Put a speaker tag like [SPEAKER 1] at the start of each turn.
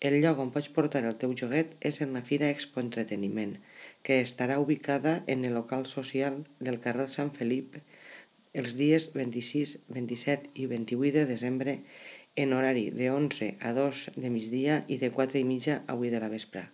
[SPEAKER 1] El lloc on pots portar el teu joguet és en la Fira Expo Entreteniment, que estarà ubicada en el local social del carrer Sant Felip els dies 26, 27 i 28 de desembre en horari de 11 a 2 de migdia i de 4 i mitja a 8 de la vespre.